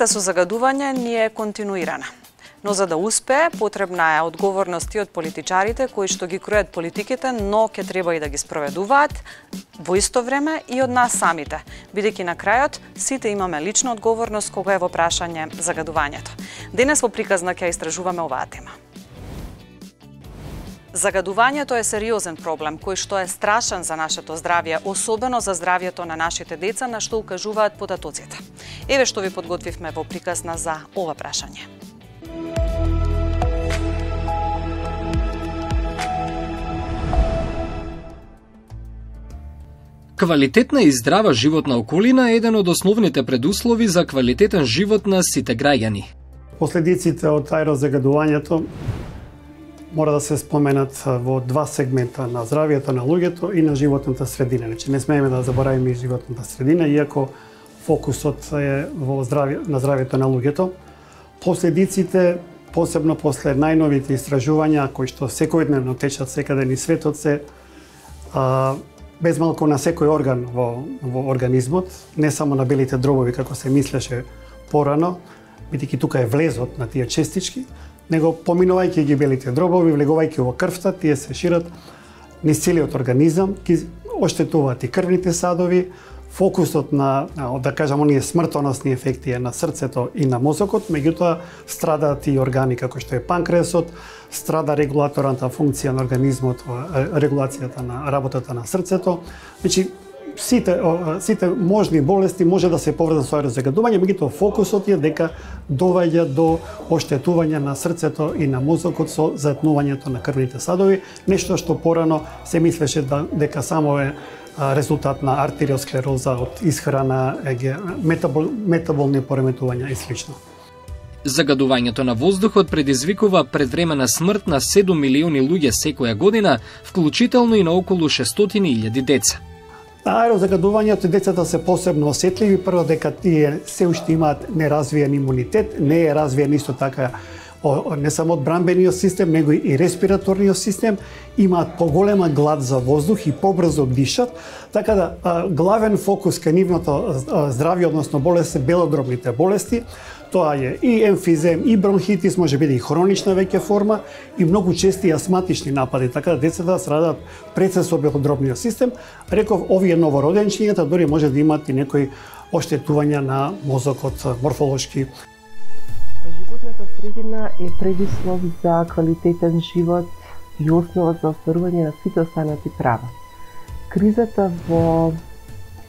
Борбата со загадување ни е континуирана. Но за да успее, потребна е одговорност и од политичарите кои што ги кројат политиките, но ќе треба и да ги спроведуваат во исто време и од нас самите, бидејќи на крајот сите имаме лична одговорност кога е во прашање загадувањето. Денес во приказна ќе истражуваме оваа тема. Загадувањето е сериозен проблем кој што е страшен за нашето здравје, особено за здравјето на нашите деца, на што укажуваат податоците. Еве што ви подготвивме во приказна за ова прашање. Квалитетна и здрава животна околина е еден од основните предуслови за квалитетен живот на сите граѓани. Последиците од аерозагадувањето мора да се споменат во два сегмента, на здравјето на луѓето и на животната средина. Значи не смееме да заборавиме и животната средина, иако фокусот е на здравјето на луѓето. Последиците, посебно после најновите истражувања кои што секојдневно течат секаде низ светот, се безмалку на секој орган во организмот, не само на белите дробови како се мислеше порано, бидејќи тука е влезот на тие честички, него поминувајќи ги белите дробови, влегувајќи во крвта, тие се шират низ целиот организам, ги оштетуваат и крвните садови. Фокусот на, да кажам, оние смртоносни ефекти е на срцето и на мозокот, меѓутоа страдаат и органи како што е панкреасот, страда регулаторната функција на организмот, регулацијата на работата на срцето. Значи, сите можни болести може да се поврзат со аерозагадување, меѓутоа фокусот е дека доваѓа до оштетување на срцето и на мозокот со затнувањето на крвните садови, нешто што порано се мислеше дека само е резултат на артериосклероза од исхрана, метаболни пореметувања и слично. Загадувањето на воздухот предизвикува предвремена смрт на 7 милиони луѓе секоја година, вклучително и на околу 600.000 деца. Аерозагадувањето децата се посебно осетливи, прво дека тие се уште имаат неразвиен имунитет, не е развиен исто така не само одбранбениот систем, него и респираторниот систем, имаат поголема глад за воздух и побрзо дишат, така да главен фокус кај нивното здравје, односно болест, се белодробните болести. Тоа е и емфизем, и бронхитис, може биде и хронична веќе форма, и многу чести астматични напади, така да децата страдаат пред се со белодробниот систем. Реков, овие новороденчињата дори може да имаат и некои оштетувања на мозокот морфолошки. Животната средина е предуслов за квалитетен живот и основа за остварување на сите останати права. Кризата во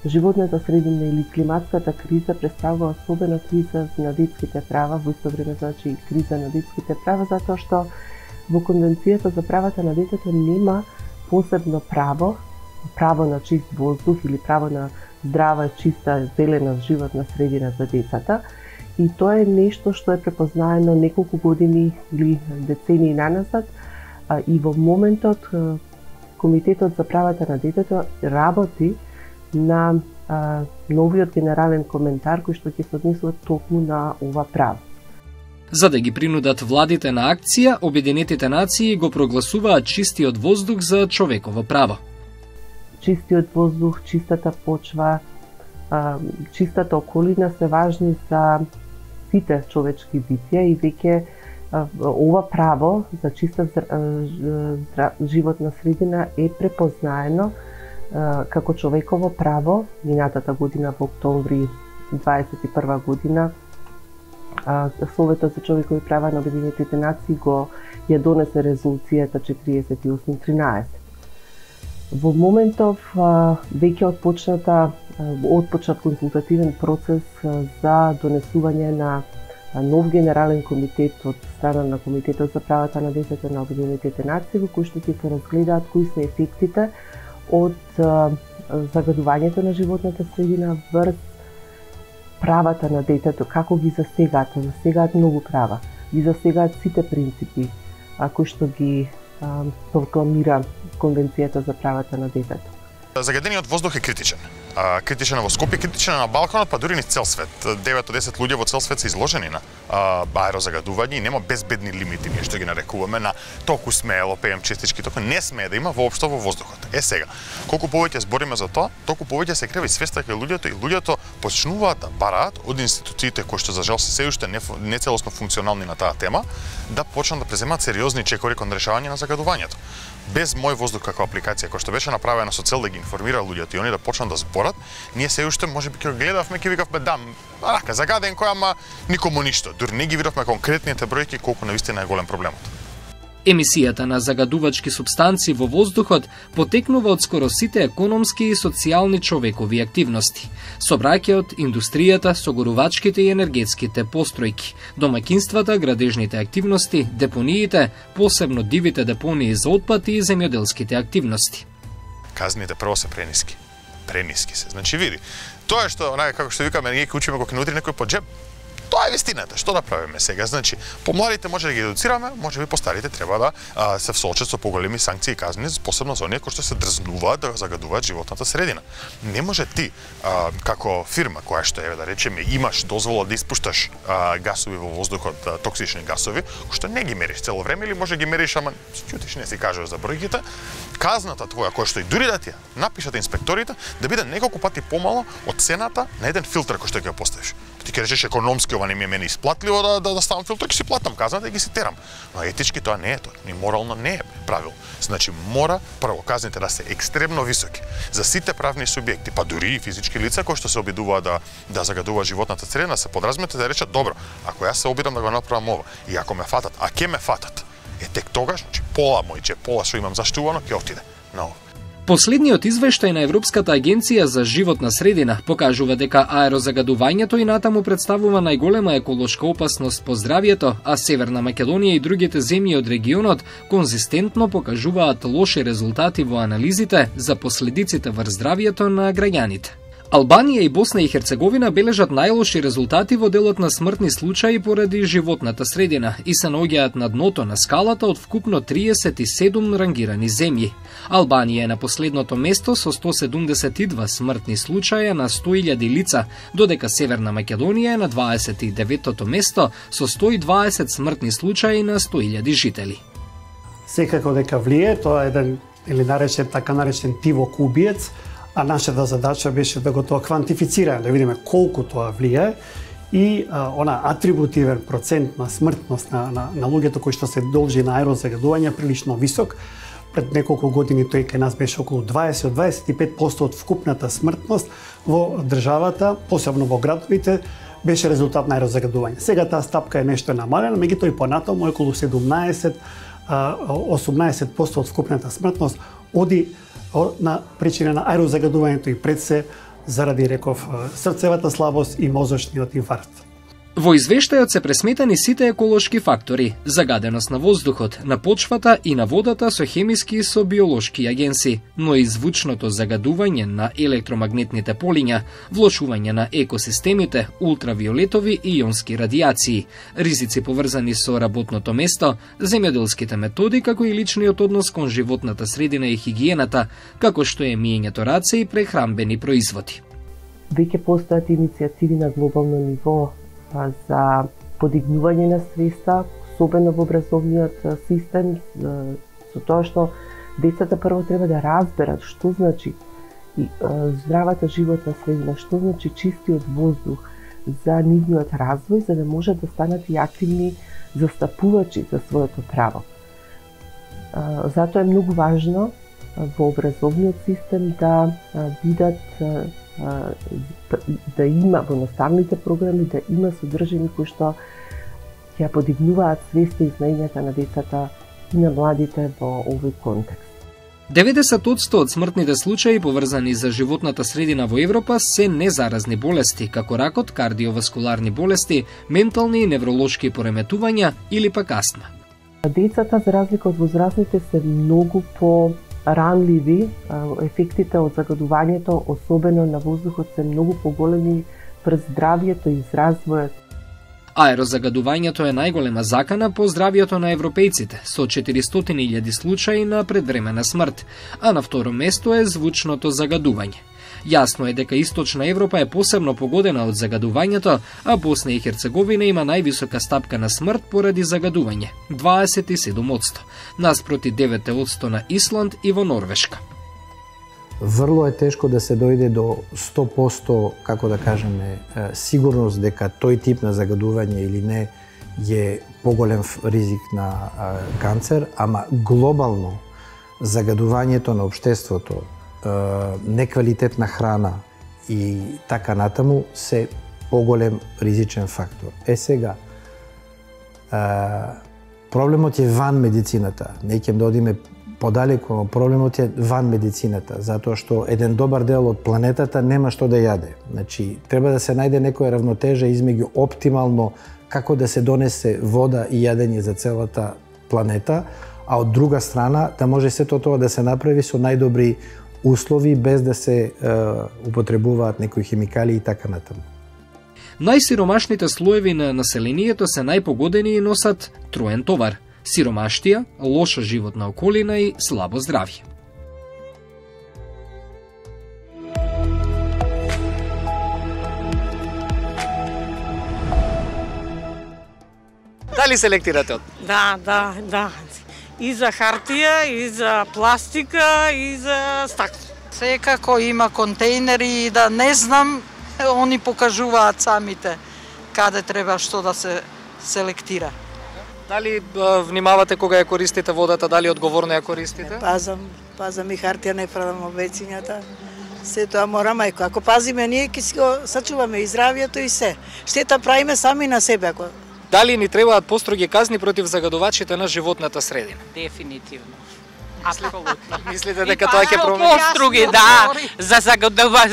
животната средина или климатската криза представува особена криза на детските права, во исто време значи и криза на детските права, затоа што во Конвенцијата за правата на детето нема посебно право на чист воздух или право на здрава, чиста, зелена животна средина за децата. И тоа е нешто што е препознаено неколку години или децении наназад, и во моментот Комитетот за правата на детето работи на новиот генерален коментар кој што ќе се однесува токму на ова право. За да ги принудат владите на акција, Обединетите нации го прогласуваат чистиот воздух за човеково право. Чистиот воздух, чистата почва, чистата околина се важни за сите човечки битија и веќе ова право за чиста животна средина е препознаено како човеково право. Минатата година во октомври 2021 година Советот за човекови права на Обединетите нации ја донесе резолуцијата 4813. Во моментов веќе отпочнат консултативен процес за донесување на нов генерален комитет од страна на Комитетот за правата на детето на Обединетите нации, во кој што ќе се разгледаат кои се ефектите од загадувањето на животната средина врз правата на детето, како ги засегаат многу права, ги засегаат сите принципи кои што ги прокламира Конвенцијата за правата на детето. Загадениот воздух е критичен. критичен во Скопје, критичен на Балканот, па дури низ цел свет. 9 од 10 луѓе во цел свет се изложени на аерозагадување и нема безбедни лимити, ние што ги нарекуваме на толку смело PM10, толку не смее да има воопшто во воздухот. Сега, колку повеќе збориме за тоа, толку повеќе се крева и свеста кај луѓето и луѓето почнуваат да бараат од институциите кои што за жал се уште не целосно функционални на таа тема, да почнат да преземаат сериозни чекори кон решавање на загадувањето. Без Мој воздух како апликација која што беше направена со цел да ги информира луѓето и они да почнат да зборат, ние се уште можеби ќе гледавме, ќе викавме загаден кој, ама никому ништо. Дури не ги видовме конкретните бројки колку навистина е голем проблемот. Емисијата на загадувачки супстанци во воздухот потекнува од скоро сите економски и социјални човекови активности. Собраќајот, индустријата, согорувачките и енергетските постројки, домаќинствата, градежните активности, депониите, посебно дивите депонии за отпад и земјоделските активности. Казните прво се прениски. Прениски се. Значи види, тоа што како што викаме, ние ќе учиме кога ќе нудри некој по џеб. Тоа е вистината. Што да правиме сега? Значи, помладите може да ги едуцираме, може би постарите треба да се всоочат со поголеми санкции и казни, посебно за оние кои што се дрзнуваат да загадуваат животната средина. Не може ти како фирма која што да речеме имаш дозвола да испушташ гасови во воздухот, токсични гасови, кои што не ги мериш цело време или може ги мериш, ама ќутиш, не си кажеш за бројките, казната твоја која што и дури да ти напишат инспекторите да биде неколку пати помало од цената на еден филтер кој што ќе го поставиш. Ти ќе речеш економски ова не ми е мене исплатливо да ставам филтер, ќе си платам казната и ги си терам. Но етички тоа не е тоа, ни морално не е правилно. Значи мора прво казните да се екстремно високи за сите правни субјекти, па дури и физички лица кои што се обидуваат да загадуваат животната средина, се подразумете да речат добро, ако јас се обидам да го направам ова и ако ме фатат, а ќе ме фатат, тек тогаш, значи пола мој пола што имам заштувано ќе отиде на ова. Последниот извештај на Европската агенција за животна средина покажува дека аерозагадувањето и натаму представува најголема еколошка опасност по здравјето, а Северна Македонија и другите земји од регионот конзистентно покажуваат лоши резултати во анализите за последиците врз здравјето на граѓаните. Албанија и Босна и Херцеговина бележат најлоши резултати во делот на смртни случаи поради животната средина и се наоѓаат на дното на скалата од вкупно 37 рангирани земји. Албанија е на последното место со 172 смртни случаја на 100.000 лица, додека Северна Македонија е на 29-тото место со 120 смртни случаи на 100.000 жители. Секако дека влие, тоа е еден или така наречен тивок убиец, а нашата задача беше да го тоа квантифицираме, да видиме колку тоа влие и она атрибутивен процент на смртност на луѓето кои што се должи на аерозагадување прилично висок. Пред неколку години тој кај нас беше околу 20-25% од вкупната смртност во државата, посебно во градовите, беше резултат на аерозагадување. Сега таа стапка е нешто намалена, меѓутоа и понатаму околу 17-18% од вкупната смртност оди на причина на аерозагадувањето и пред се заради, реков, срцевата слабост и мозочниот инфаркт. Во извештајот се пресметани сите еколошки фактори: загаденост на воздухот, на почвата и на водата со хемиски и со биолошки агенси, но и звучното загадување на електромагнетните полиња, влошување на екосистемите, ултравиолетови и ионски радијации, ризици поврзани со работното место, земјоделските методи, како и личниот однос кон животната средина и хигиената, како што е миењето раце и прехранбени производи. Веќе постојат иницијативи на глобално ниво за подигнување на свеста, особено во образовниот систем, со тоа што децата прво треба да разберат што значи здравата животна средина, што значи чистиот воздух за нивниот развој, за да можат да станат и активни застапувачи за своето право. Затоа е многу важно во образовниот систем да бидат да има во наставните програми, да има содржини кои што ќе подигнуваат свеста и знаењата на децата и на младите во овој контекст. 90% од смртните случаи поврзани за животната средина во Европа се незаразни болести, како ракот, кардиоваскуларни болести, ментални и невролошки пореметувања или пак астма. Децата, за разлика од возрастните, се многу ранливи, ефектите од загадувањето, особено на воздухот, се многу поголеми врз здравјето и развојот. Аерозагадувањето е најголема закана по здравјето на европејците, со 400.000 случаи на предвремена смрт, а на второ место е звучното загадување. Јасно е дека Источна Европа е посебно погодена од загадувањето, а Босна и Херцеговина има највисока стапка на смрт поради загадување – 27%, наспроти 9% на Исланд и во Норвешка. Врло е тешко да се дојде до 100%, како да кажеме, сигурност дека тој тип на загадување или не е поголем ризик на канцер, ама глобално загадувањето на општеството, неквалитетна храна и така натаму се поголем ризичен фактор. Сега, проблемот е ван медицината. Не ќе да одиме подалеку, но проблемот е ван медицината, затоа што еден добар дел од планетата нема што да јаде. Значи, треба да се најде некоја равнотежа измеѓу оптимално како да се донесе вода и јадење за целата планета, а од друга страна да може сето тоа да се направи со најдобри услови без да се употребуваат некои химикали и така натаму. Најсиромашните слоеви на населението се најпогодени и носат троен товар: сиромаштија, лоша животна околина и слабо здравје. Дали се лектирате од? Да. И за хартија, и за пластика, и за стакло. Секако има контейнери, да не знам, они покажуваат самите каде треба што да се селектира. Дали внимавате кога ја користите водата, дали одговорно ја користите? Пазам и хартија, не фрлам обецињата. Се тоа мора мајко. Ако пазиме ние, ќе си го сачуваме и здравјето и се. Штета правиме сами на себе. Ако... Дали ни требаат построги казни против загадувачите на животната средина? Дефинитивно. Апсолутно. Мислите дека тоа ќе промени? Построги, да. За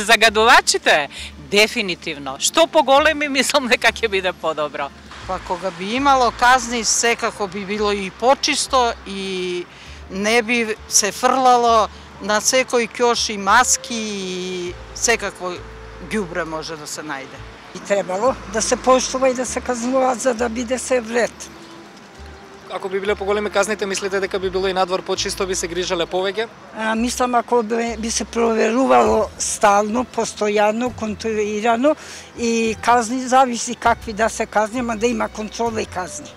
загадувачите, дефинитивно. Што поголеми, мислам дека ќе биде подобро. Па кога би имало казни, секако би било и почисто и не би се фрлало на секој ќош и маски и секакво ѓубре може да се најде. И требало да се поштува и да се казнуваат за да биде се вред. Ако би биле поголеми казните, мислите дека би било и надвор почисто, би се грижале повеќе? Мислам, ако би се проверувало стално, постојано, контролирано и казни, зависи какви да се казни, ама да има контрола и казни.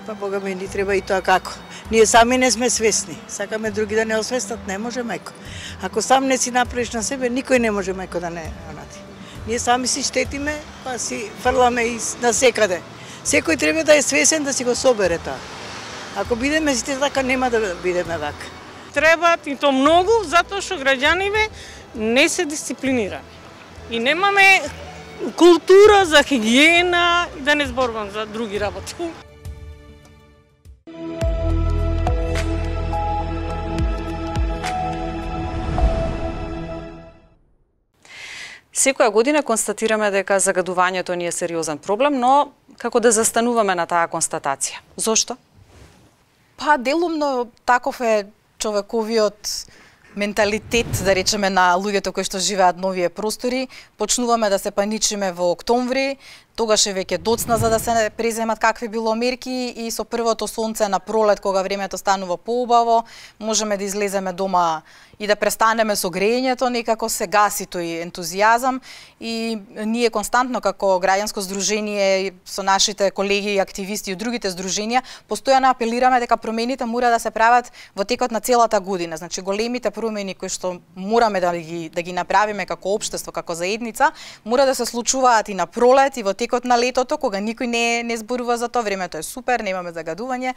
Па Бога ми ни треба и тоа како. Ние сами не сме свесни. Сакаме други да не освестат, не може мајко. Ако сам не си направиш на себе, никој не може мајко да не онади. Ние сами си штетиме, па си фрламе и на секаде. Секој треба да е свесен да си го собере тоа. Ако бидеме сите така, нема да бидеме вака. Требаат и то многу, затоа што граѓаните не се дисциплинирани. И немаме култура за хигиена и да не зборувам за други работи. Секоја година констатираме дека загадувањето ни е сериозен проблем, но како да застануваме на таа констатација? Зошто? Па делумно таков е човековиот менталитет, да речеме, на луѓето кои што живеат на овие простори. Почнуваме да се паничиме во октомври, тогаш е веќе доцна за да се преземат какви било мерки и со првото сонце на пролет, кога времето станува поубаво, можеме да излеземе дома и да престанеме со грејењето, некако се гаси тој ентузијазам и ние константно како граѓанско здружение со нашите колеги и активисти од другите здруженија постојано апелираме дека промените мора да се прават во текот на целата година. Значи големите промени кои што мораме да ги направиме како општество, како заедница, мора да се случуваат и на пролет и во текот на летото, кога никој не зборува за тоа, времето е супер, немаме загадување,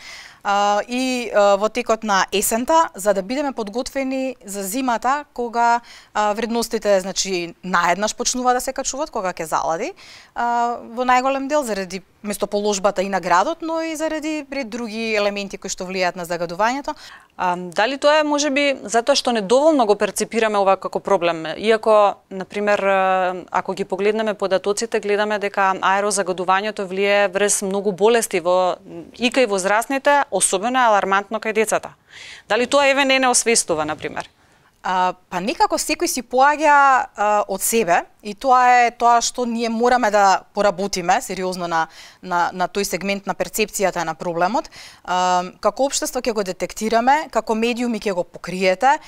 и во текот на есента, за да бидеме подготвени за зимата, кога вредностите, значи, наеднаш почнува да се качуваат, кога ќе залади, во најголем дел заради местоположбата и на градот, но и заради други елементи кои што влијаат на загадувањето. Дали тоа е можеби затоа што недоволно го перципираме ова како проблем? Иако, например, ако ги погледнеме податоците, гледаме дека аерозагадувањето влие врз многу болести и кај возрастните, особено алармантно кај децата. Дали тоа не освестува, например? Па некако секој си поаѓа од себе И тоа е тоа што ние мораме да поработиме сериозно на тој сегмент на перцепцијата на проблемот. Како општество ќе го детектираме, како медиуми ќе го покриете,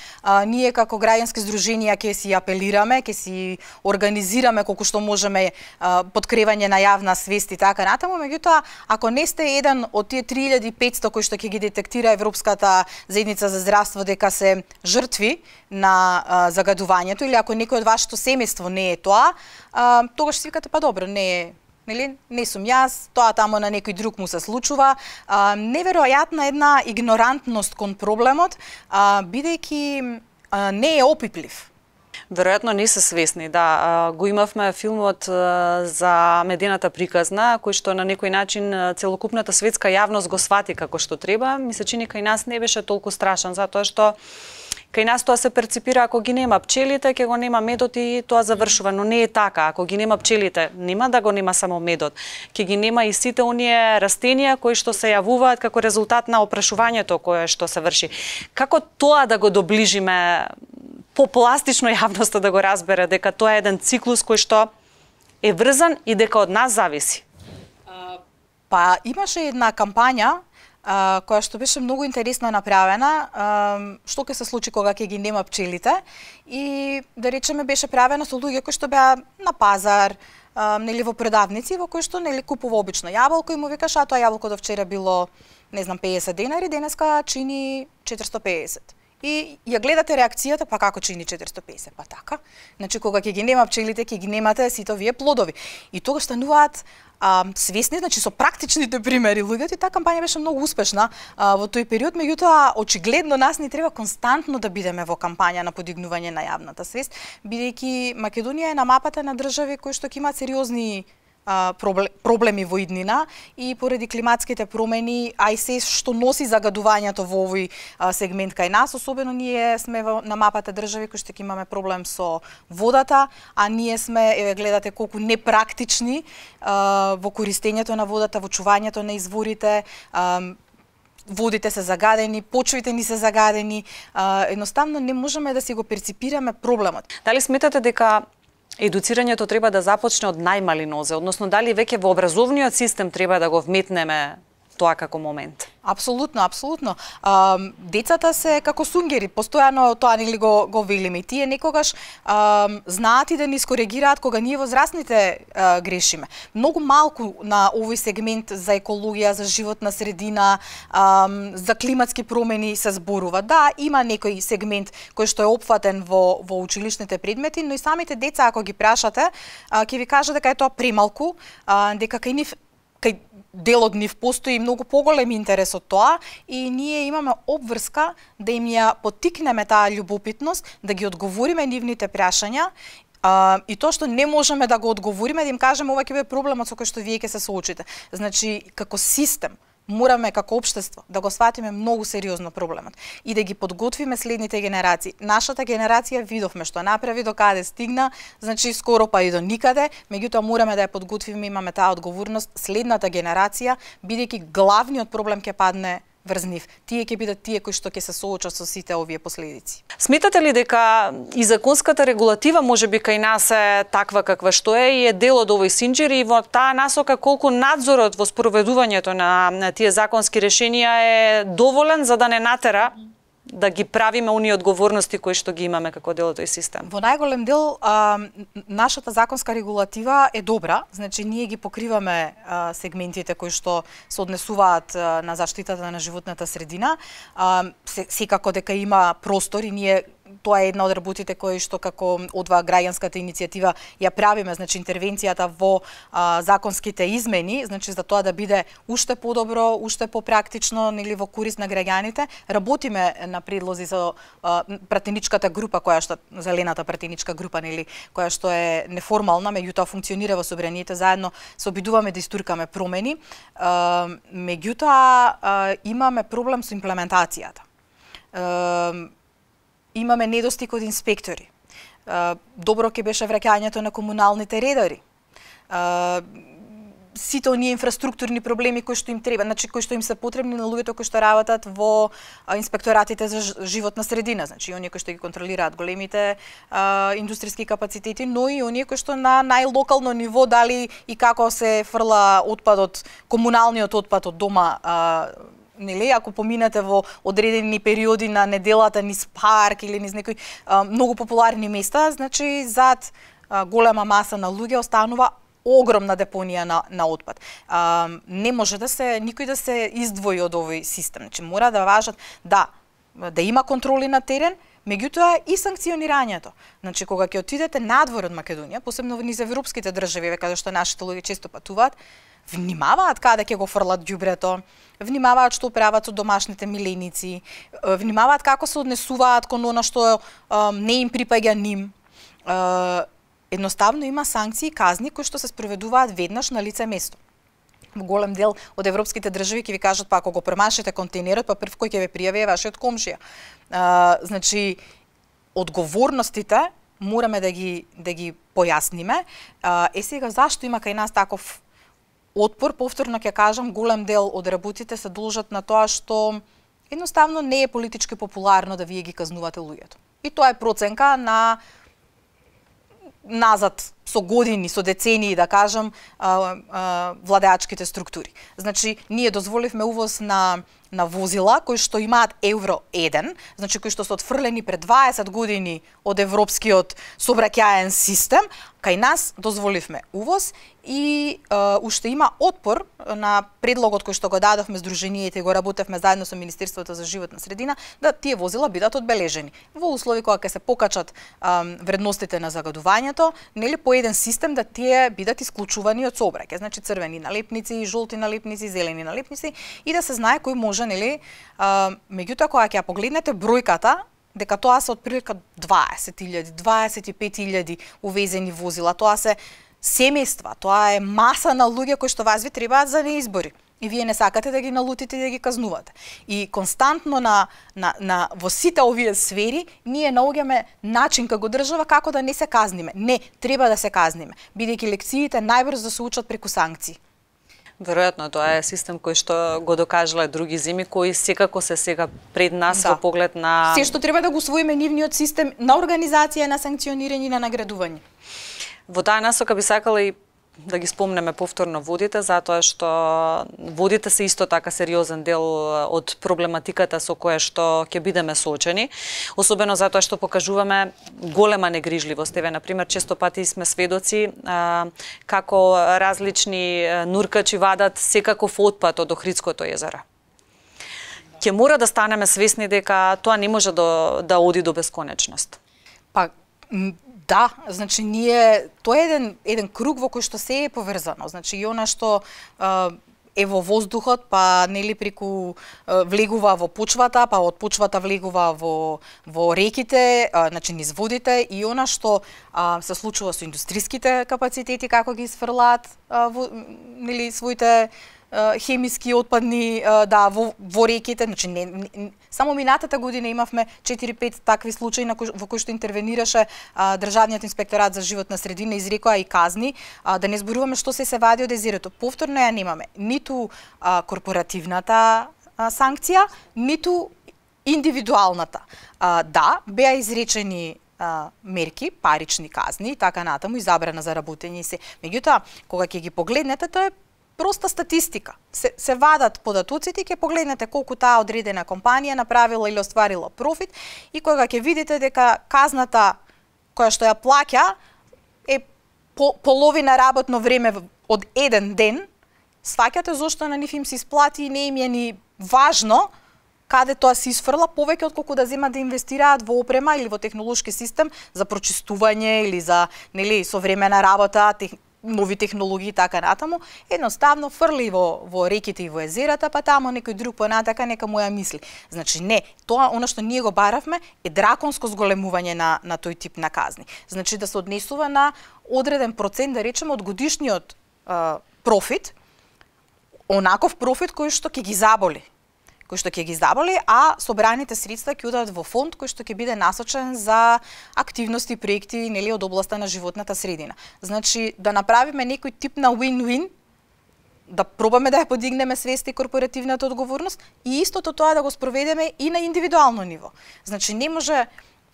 ние како граѓански здруженија ќе си апелираме, ќе си организираме колку што можеме подкревање на јавна свест и така натаму, меѓутоа ако не сте еден од тие 3500 кои што ќе ги детектира Европската заедница за здравство дека се жртви на загадувањето, или ако некој од вашето семејство не е тоа, тогаш си викате па добро, не сум јас, тоа тамо на некој друг му се случува. Неверојатна една игнорантност кон проблемот, бидејќи не е опиплив. Веројатно не се свесни, да. Го имавме филмот за медената приказна, кој што на некој начин целокупната светска јавност го свати како што треба. Ми се чини кај нас не беше толку страшен, затоа што кај нас тоа се перципира, ако ги нема пчелите, ќе го нема медот и тоа завршува, но не е така. Ако ги нема пчелите, нема да го нема само медот. Ќе ги нема и сите оние растенија кои што се јавуваат како резултат на опрашувањето кое што се врши. Како тоа да го доближиме попластично јавноста да го разбере дека тоа е еден циклус кој што е врзан и дека од нас зависи? Па имаше една кампања која што беше многу интересно направена, што ќе се случи кога ќе ги нема пчелите, и да речеме беше правена со луѓе кои што беа на пазар, нели во продавници, во кои што нели купува обично јаболко и му викаш, а тоа јаболко до вчера било, не знам, 50 денари, денеска чини 450. И ја гледате реакцијата, па како чини 450, па така. Значи кога ќе ги нема пчелите, ќе ги немате сите овие плодови. И тогаш стануваат свесни, значи со практичните примери луѓето, и таа кампања беше многу успешна во тој период, меѓутоа очигледно нас ни треба константно да бидеме во кампања на подигнување на јавната свест, бидејќи Македонија е на мапата на држави кои што ќе имаат сериозни проблеми во иднина и поради климатските промени, а и се што носи загадувањето во овој сегмент кај нас, особено ние сме на мапата држави кои што ќе имаме проблем со водата, а ние сме, еве гледате колку непрактични во користењето на водата, во чувањето на изворите, водите се загадени, почвите ни се загадени, едноставно не можеме да си го перципираме проблемот. Дали сметате дека едуцирањето треба да започне од најмали нозе, односно дали веќе во образовниот систем треба да го вметнеме тоа како момент? Апсолутно, апсолутно. Децата се како сунгери, постојано тоа нели го велиме. Тие некогаш знаат и да ни скоригираат кога ние возрастните грешиме. Многу малку на овој сегмент за екологија, за животна средина, за климатски промени се зборува. Да, има некој сегмент кој што е опфатен во училишните предмети, но и самите деца ако ги прашате, ќе ви кажат дека е тоа премалку, дека кај нив дел од нив постои многу поголем интерес од тоа и ние имаме обврска да им ја поттикнеме таа љубопитност, да ги одговориме нивните прашања и тоа што не можеме да го одговориме, да им кажеме ова ќе биде проблемот со кој што вие ќе се соочите. Значи, како систем, мораме како општество да го сватиме многу сериозно проблемот и да ги подготвиме следните генерации. Нашата генерација видовме што направи, до каде стигна, значи скоро па и до никаде, меѓутоа мораме да ја подготвиме, имаме таа одговорност следната генерација, бидејќи главниот проблем ќе падне врз нив. Тие ќе бидат тие кои што ќе се соочат со сите овие последици. Сметате ли дека и законската регулатива можеби кај нас е таква каква што е и е дел од овој синџир и во таа насока колку надзорот во спроведувањето на тие законски решенија е доволен за да не натера да ги правиме оние одговорности кои што ги имаме како дел од тој систем? Во најголем дел нашата законска регулатива е добра, значи ние ги покриваме сегментите кои што се однесуваат на заштитата на животната средина. Секако дека има простор и ние тоа е една од работите кои што како одва граѓанската иницијатива ја правиме, значи интервенцијата во законските измени, значи за тоа да биде уште подобро, уште попрактично, нели во корист на граѓаните. Работиме на предлози за пратеничката група која што зелената пратеничка група, нели, која што е неформална, меѓутоа функционира во собранието, заедно се обидуваме да истуркаме промени. Меѓутоа имаме проблем со имплементацијата. Имаме недостиг од инспектори. Добро ќе беше враќањето на комуналните редари. сите оние инфраструктурни проблеми кои што им треба, значи кои што им се потребни на луѓето кои што работат во инспекторатите за животна средина, значи оние кои што ги контролираат големите индустријски капацитети, но и оние кои што на најлокално ниво дали и како се фрла отпадот, комуналниот отпад од дома, нели, ако поминете во одредени периоди на неделата низ парк или низ некои многу популарни места, значи зад голема маса на луѓе останува огромна депонија на отпад. Не може никој да се издвои од овој систем. Значи мора да важат да има контроли на терен, меѓутоа и санкционирањето. Значи кога ќе отидете надвор од Македонија, посебно низ европските држави, каде што нашите луѓе често патуваат, внимаваат каде ќе го фрлат ѓубрето, внимаваат што прават со домашните миленици, внимаваат како се однесуваат кон она што не им припаѓа ним. Едноставно има санкции и казни кои што се спроведуваат веднаш на лице место. Во голем дел од европските држави ќе ви кажат па ако го премашите контейнерот, па прв кој ќе ве пријави е вашиот комшија. Значи одговорностите мораме да ги појасниме. Сега зашто има кај нас таков отпор, повторно ќе кажам, голем дел од работите се должат на тоа што едноставно не е политички популарно да вие ги казнувате луѓето. И тоа е проценка на назад со години, со децении, да кажам, владеачките структури. Значи, ние дозволивме увоз на возила кои што имаат Евро 1, значи кои што се отфрлени пред 20 години од европскиот сообраќаен систем, кај нас дозволивме увоз и уште има отпор на предлогот кој што го дадовме Сдруженијата и го работевме заедно со Министерството за животна средина, да тие возила бидат одбележени. Во услови кога ќе се покачат вредностите на загадувањето, нели по еден систем да тие бидат исклучувани од сообраќај, значи црвени налепници, жолти налепници, зелени налепници и да се знае кој може, нели, меѓутоа кога ќе ја погледнете бројката, дека тоа се отприлика 20.000, 25.000 увезени возила, тоа се семејства, тоа е маса на луѓе кои што вас ви требаат за неизбори. И вие не сакате да ги налутите и да ги казнувате. И константно во сите овие сфери ние наоѓаме начин како држава како да не се казниме. Не, треба да се казниме, бидејќи лекциите најбрзо да се учат преку санкции. Веројатно, тоа е систем кој што го докажале други земји, кои секако се сега пред нас во поглед на... Се што треба да го усвоиме нивниот систем на организација, на санкционирање и на наградување. Во таа насока би сакала и да ги спомнеме повторно водите, затоа што водите се исто така сериозен дел од проблематиката со која што ќе бидеме соочени, особено затоа што покажуваме голема негрижливост. Еве, например, често пати сме сведоци како различни нуркачи вадат секаков отпад од Охридското езеро. Ќе мора да станеме свесни дека тоа не може да оди до бесконечност. Па, да, значи тоа е еден круг во кој што се е поврзано. Значи и она што е во воздухот, па нели преку влегува во почвата, па од почвата влегува во реките, значи низ водите, и она што се случува со индустријските капацитети како ги сфрлаат нели своите хемиски отпадни во реките, значи само минатата година имавме 4-5 такви случаи во кои што интервенираше Државниот инспекторат за животна средина, изрекоа и казни, да не зборуваме што се вади од езерото. Повторно ја немаме ниту корпоративната санкција, ниту индивидуалната. Да, беа изречени мерки, парични казни и така натаму, и забрана за работење и се. Меѓутоа, кога ќе ги погледнете, тоа е проста статистика. Се вадат податоците и ќе погледнете колку таа одредена компанија направила или остварила профит, и кога ќе видите дека казната која што ја плаќа е половина работно време од еден ден, сваќате зошто на нив им се исплати и не им е ни важно каде тоа се исфрла повеќе отколку да земат да инвестираат во опрема или во технолошки систем за прочистување или за нели современа работа, нови технологии и така натаму, едноставно фрли во реките и во езерата, па тамо некој друг понатака нека му ја мисли. Значи не, тоа она што ние го баравме е драконско зголемување на тој тип на казни. Значи да се однесува на одреден процент, да речеме, од годишниот профит, онаков профит кој што ќе ги заболи. А собраните средства ќе одат во фонд кој што ќе биде насочен за активности и проекти нели од областа на животната средина. Значи да направиме некој тип на win-win да пробаме да ја подигнеме свест и корпоративната одговорност и истото тоа да го спроведеме и на индивидуално ниво. Значи не може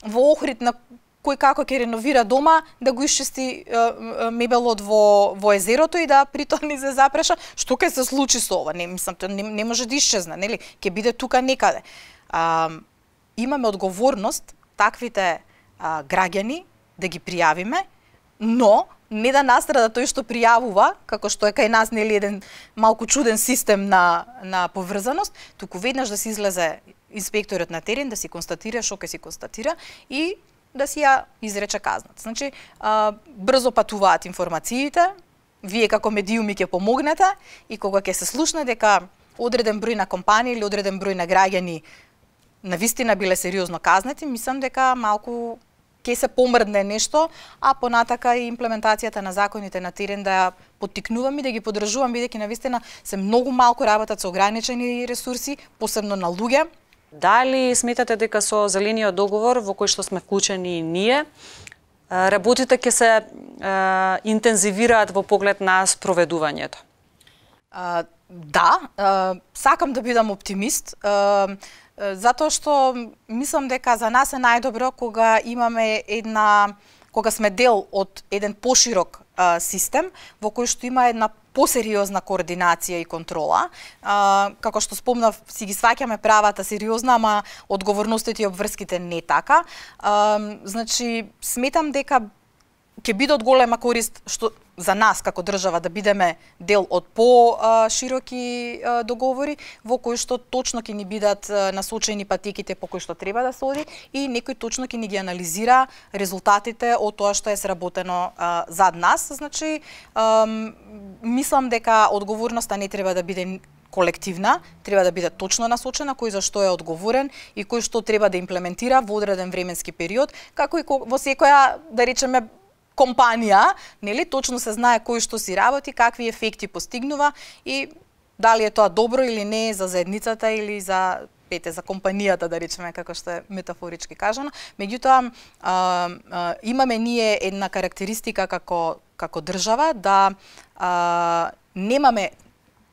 во Охрид на кој како ќе реновира дома да го исчисти мебелот во езерото и да притоа не се запреша што ќе се случи со ова. Не може да исчезне, нели? Ќе биде тука некаде. Имаме одговорност таквите граѓани да ги пријавиме, но не да настрада тој што пријавува, како што е кај нас нели еден малку чуден систем на поврзаност, туку веднаш да се излезе инспекторот на терен, да си констатира што ќе си констатира и да си ја изрече казната. Значи, брзо патуваат информациите, вие како медиуми ќе помогнете и кога ќе се слушне дека одреден број на компании или одреден број на граѓани навистина биле сериозно казнети, мислам дека малку ќе се помрдне нешто, а понатака и имплементацијата на законите на терен да ја поттикнувам и да ги поддржувам, бидејќи навистина се многу малку работат со ограничени ресурси, посебно на луѓе. Дали сметате дека со зелениот договор во кој што сме вклучени и ние, работите ќе се интензивираат во поглед на спроведувањето? Да, сакам да бидам оптимист, затоа што мислам дека за нас е најдобро кога имаме кога сме дел од еден поширок систем во кој што има една посериозна координација и контрола. Како што спомнав, си ги сваќаме правата сериозно, ама одговорностите и обврските не така. Значи, сметам дека ќе биде од голема корист што за нас како држава да бидеме дел од по-широки договори во кои што точно ќе ни бидат насочени патеките по кои што треба да се оди и некој точно ќе ни ги анализира резултатите од тоа што е сработено зад нас. Значи, мислам дека одговорноста не треба да биде колективна, треба да биде точно насочена кој за што е одговорен и кој што треба да имплементира во одреден временски период, како и во секоја, да речеме, компанија, нели, точно се знае кој што си работи, какви ефекти постигнува и дали е тоа добро или не за заедницата или за компанијата, да речеме, како што е метафорички кажано. Меѓутоа, имаме ние една карактеристика како држава да немаме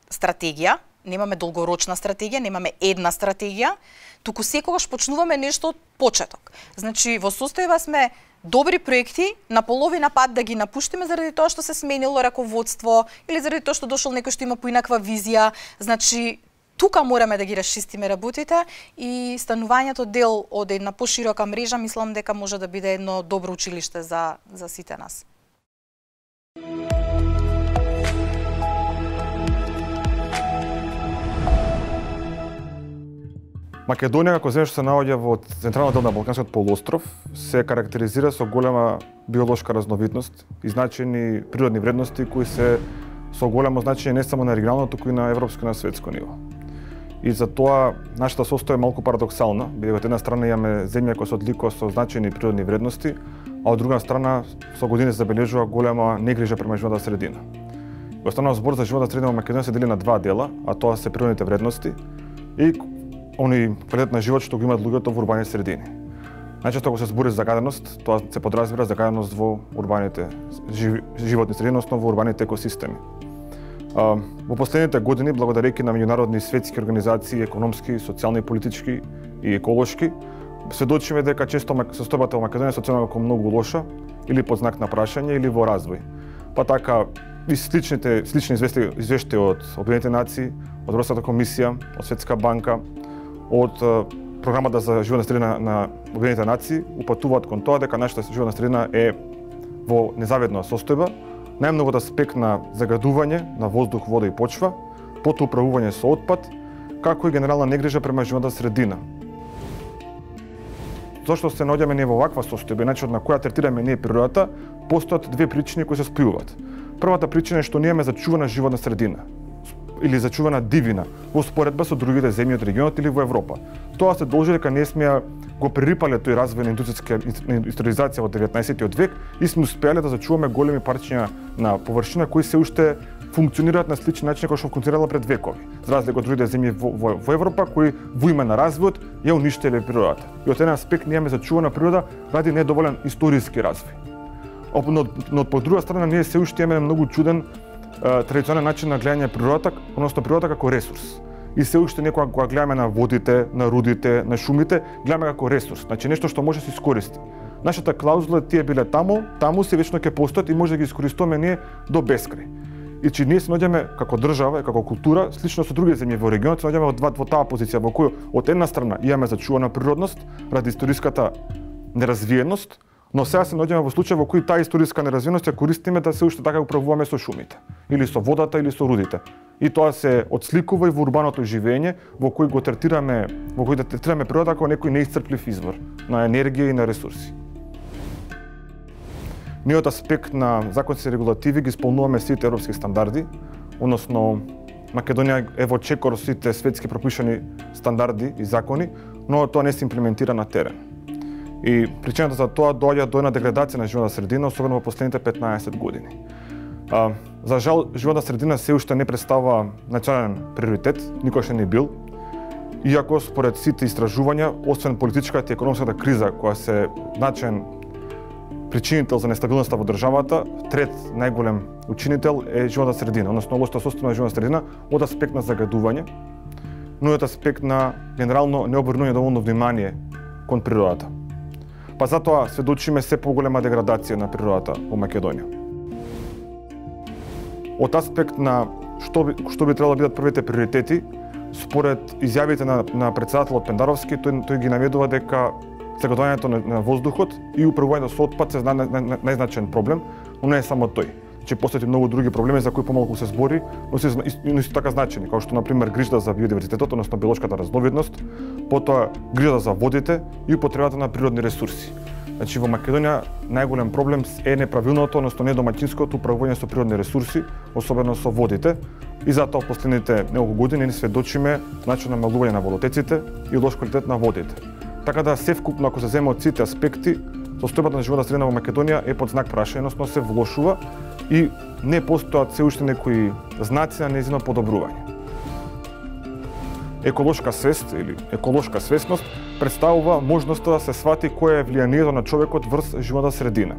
стратегија, немаме долгорочна стратегија, немаме една стратегија, туку секогаш почнуваме нешто од почеток. Значи, во состојба сме добри проекти на половина пат да ги напуштиме заради тоа што се сменило раководство или заради тоа што дошол некој што има поинаква визија. Значи, тука мораме да ги расчистиме работите и станувањето дел од една поширока мрежа, мислам дека може да биде едно добро училиште за сите нас. Македонија, како земја што се наоѓа во централната дел на Балканскиот полуостров, се карактеризира со голема биолошка разновидност и значени природни вредности кои се со големо значење не само на регионално, туку и на европско и на светско ниво. И за тоа нашата состоја е малку парадоксална, бидејќи од една страна имаме земја која се одликува со значени природни вредности, а од друга страна со години се забележува голема негрижа према животната средина. Во останал збор за животната средина во Македонија се дели на два дела, а тоа се природните вредности и они квалитет на живот што го имаат луѓето во урбани средини. Најчесто кога се збори за загаденост, тоа се подразбира загаденост во урбаните животни средини, односно во урбаните екосистеми. Во последните години, благодарејќи на меѓународни светски организации, економски, социјални, политички и еколошки, сведочиме дека често состојбата во Македонија се оценува како многу лоша или под знак на прашање или во развој. Па така и слични извештаи од Обединетите нации, од Европската комисија, од Светска банка, од програмата за животна средина на Обединетите нации упатуваат кон тоа дека нашата животна средина е во незавидна состојба, најмногу од аспект на загадување на воздух, вода и почва, потоа управување со отпад, како и генерална негрижа према животната средина. Зошто се наоѓаме ние во ваква состојба, начинот на која третираме ние природата, постојат две причини кои се спојуваат. Првата причина е што ние имаме зачувана животна средина или зачувана дивина во споредба со другите земји од регионот или во Европа. Тоа се должи дека ние сме го прерипале тој развој на индустријска индустриализација во 19 век и сме успеале да зачуваме големи парчиња на површина кои се уште функционираат на сличен начин како што функционирала пред векови. За разлика од другите земји во Европа кои во име на развојот ја уништиле природата. И од еден аспект ние имаме зачувана природа ради недоволен историски развој. Но по друга страна ние се уште имаме многу чуден традиционален начин на гледање природата, односно природата како ресурс. И се уште некога кога гледаме на водите, на рудите, на шумите, гледаме како ресурс, значи нешто што може да се искористи. Нашата клаузула тие биле таму се вечно ќе постојат и може да ги искористуваме ние до бескрај. И че ние се наоѓаме како држава и како култура, слично со други земји во регионот, се наоѓаме во таа позиција во која од една страна имаме зачувана природност ради историската неразвиеност, но сега се наоѓаме во случај во кој таа историска неразвиеност ја користиме да се уште така управуваме со шумите, или со водата, или со рудите. И тоа се отсликува и во урбаното живење, во кој го третираме, во кој да третираме природата како некој неисцрплив извор на енергија и на ресурси. Ние од аспект на законски регулативи ги исполнуваме сите европски стандарди, односно Македонија е во чекор сите светски пропишани стандарди и закони, но тоа не се имплементира на терен. И причината за тоа доаѓа до една деградација на животна средина, особено во последните 15 години. За жал, животна средина се уште не представува национален приоритет, никош не бил, иако според сите истражувања, освен политичката и економската криза која се значаен причинител за нестабилноста во државата, трет најголем учинител е животна средина, односно лошото состојание на животна средина од аспект на загадување, но и од аспект на генерално необрнување доволно внимание кон природата. Па затоа сведочиме се поголема деградација на природата во Македонија. Од аспект на што би требало да бидат првите приоритети, според изјавите на претседателот Пендаровски, тој ги наведува дека загадувањето на воздухот и управувањето со отпад се најзначаен проблем, но не е само тој. Че постојат и многу други проблеми за кои помалку се збори, но се исто така значени, како што на пример грижата за биодиверзитетот, односно биолошката разновидност, потоа грижата за водите и употребата на природни ресурси. Значи во Македонија најголем проблем е неправилното, односно недомаќинското управување со природни ресурси, особено со водите, и затоа во последните неколку години ни сведочиме значајно намалување на водотеците и лош квалитет на водите. Така да севкупно ако се земе од сите аспекти, состојбата на животна средина во Македонија е под знак прашање, односно се влошува и не постојат се уште некои знаци на нејзино подобрување. Еколошка свест или еколошка свесност представува можноста да се свати кое е влијанието на човекот врз животна средина.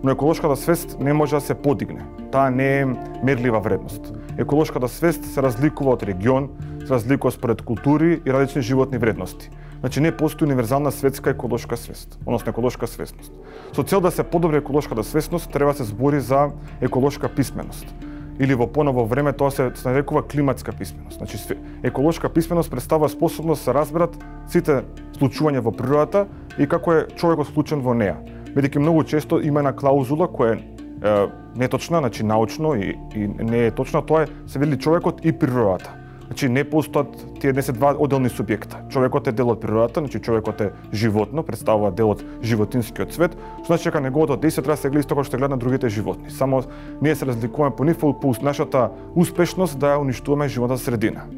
Но еколошката свест не може да се подигне. Таа не е мерлива вредност. Еколошката свест се разликува од регион, се разликува според култури и различни животни вредности. Значи не постои универзална светска еколошка свест, односно еколошка свесност. Со цел да се подобри еколошката свесност, треба се збори за еколошка писменост. Или во поново време тоа се нарекува климатска писменост. Значи еколошка писменост представува способност да се разберат сите случувања во природата и како е човекот вклучен во неа. Бидејќи многу често има една клаузула која е неточна, значи научно и не е точна, тоа е се вели човекот и природата. Значи не постојат тие не се два одделни субјекта. Човекот е дел од природата, значи човекот е животно, представува дел од животинскиот свет, што значи дека неговото действие треба да се гледа исто како што гледа на другите животни. Само ние се разликуваме по нив по нашата успешност да ја уништуваме животната средина.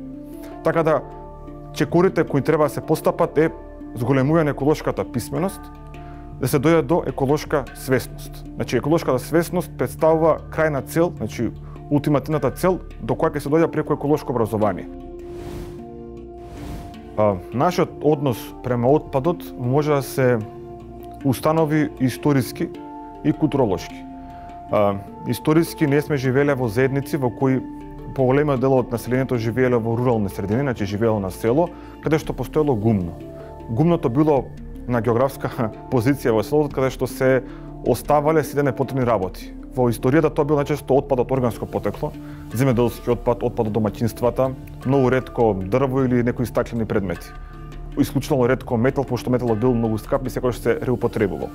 Така да чекорите кои треба да се постапат е зголемување на еколошката писменост, да се дојде до еколошка свесност. Значи еколошката свесност представува крајна цел, значи ултимативната цел до која ќе се дојде преку еколошко образование. Нашиот однос према отпадот може да се установи историски и културолошки. Историски ние сме живееле во заедници во кои поголемиот дел од населението живееле во рурални средини, значи живеело на село, каде што постоело гумно. Гумното било на географска позиција во селото, каде што се оставале сите непотребни работи. Во историјата тоа бил најчесто отпад од органско потекло, земјоделски отпад, отпад од домаќинствата, многу ретко дрво или некои стаклени предмети. Исклучително ретко метал, пошто металот бил многу скап и секогаш се реупотребувал.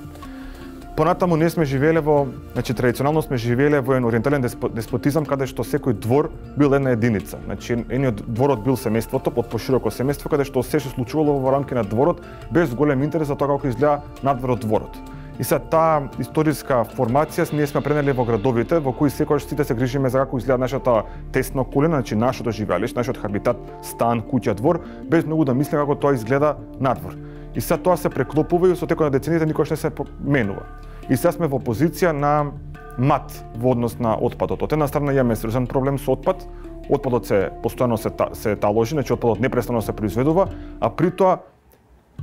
Понатаму ние сме живееле во, значи традиционално сме живееле во еден ориентален деспотизам каде што секој двор бил една единица. Значи едниот дворот бил семејството, под пошироко семејство каде што се што случувало во рамки на дворот без голем интерес за тоа како изгледа надвор од дворот. И се таа историска формација ние сме пренели во градовите во кои секогаш сите се грижиме за како изгледа нашата тесна околина, значи нашето живеалиште, нашиот хабитат, стан, куќа, двор, без многу да мислиме како тоа изгледа надвор. И се тоа се преклопува и со текот на децениите никош не се менува. И сега сме во позиција на мат во однос на отпадот. Од една страна имаме сериозен проблем со отпад, отпадот се постојано се таложи, значи отпадот непрестанно се произведува, а при тоа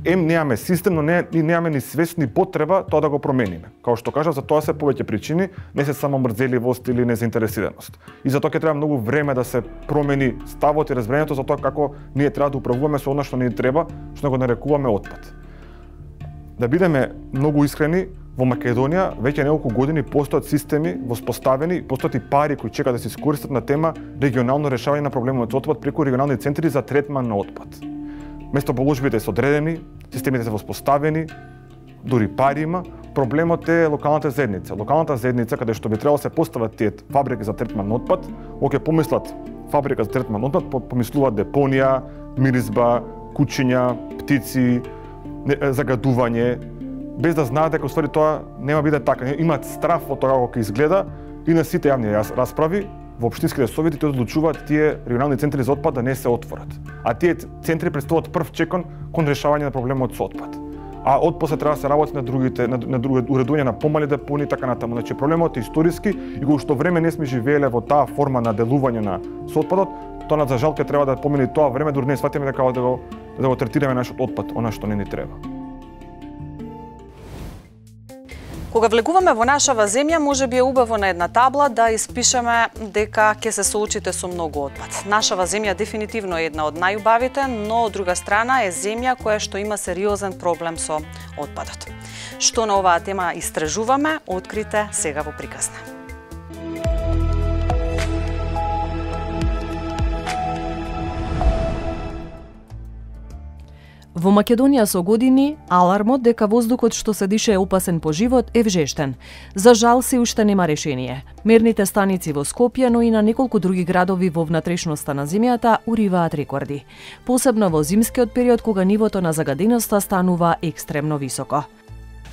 немаме систем, но немаме ни свест ни потреба тоа да го промениме. Као што кажав, за тоа се повеќе причини, не се само мрзеливост или незаинтересираност. И за тоа ќе треба многу време да се промени ставот и разбирањето за тоа како ние треба да управуваме со она што ни треба, што го нарекуваме отпад. Да бидеме многу искрени, во Македонија веќе неколку години постојат системи воспоставени, постојат и пари кои чекаат да се искористат на тема регионално решавање на проблемот со отпад преку регионални центри за третман на отпад. Местоположбите се одредени, системите се воспоставени, дури пари има. Проблемот е локалната заедница. Локалната заедница, каде што би требало се постават тие фабрики за третман на отпад, кога ќе помислат фабрика за третман на отпад, помислуваат депонија, миризба, кучиња, птици, загадување, без да знаат дека уствари тоа нема биде така. Имаат страф од тоа како ќе изгледа и на сите јавни расправи во општинските совети тие одлучуваат тие регионални центри за отпад да не се отворат. А тие центри представуваат прв чекон кон решавање на проблемот со отпад. А отпосле треба да се работи на други уредување на помали депони и така натаму. Значи проблемот е историски и кога што време не сме живееле во таа форма на делување на со отпадот, тоа за жал ќе треба да помине тоа време дури не сватиме дека да го третираме нашиот отпад, она што не ни треба. Кога влегуваме во нашава земја, може би е убаво на една табла да испишеме дека ќе се соочите со многу отпад. Нашава земја дефинитивно е една од најубавите, но од друга страна е земја која што има сериозен проблем со отпадот. Што на оваа тема истражуваме, открите сега во приказна. Во Македонија со години, алармот дека воздухот што се дише е опасен по живот е вжештен. За жал се уште нема решение. Мерните станици во Скопје, но и на неколку други градови во внатрешноста на земјата уриваат рекорди. Посебно во зимскиот период кога нивото на загаденоста станува екстремно високо.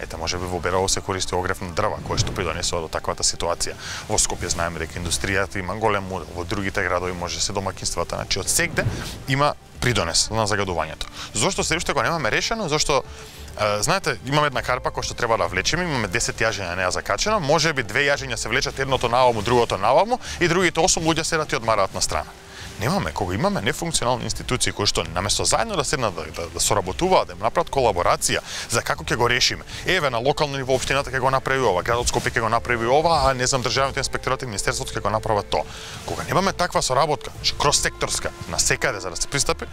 Ете, може би во Берово се користи огрев на дрва, кој што придонесува до таквата ситуација. Во Скопје знаеме дека индустријата има голем удел, во другите градови може се домаќинствата, значи од сегде има придонес на загадувањето. Зошто се уште го немаме решено? Зошто знаете, имаме една карпа која што треба да влечеме, имаме 10 јажења на неа закачено, можеби 2 јажења се влечат едното наваму, другото наваму и другите 8 луѓе седат и одмараат на страна. Немаме, кога имаме нефункционални институции кои што наместо заедно да седнат да соработуваат, да им направат колаборација за како ќе го решиме. Еве на локално ниво општината ќе го направи ова, градот Скопје ќе го направи ова, а не знам државните инспекторати и министерството ќе го направат тоа. Кога немаме таква соработка, кроссекторска, на секаде за да се пристапи,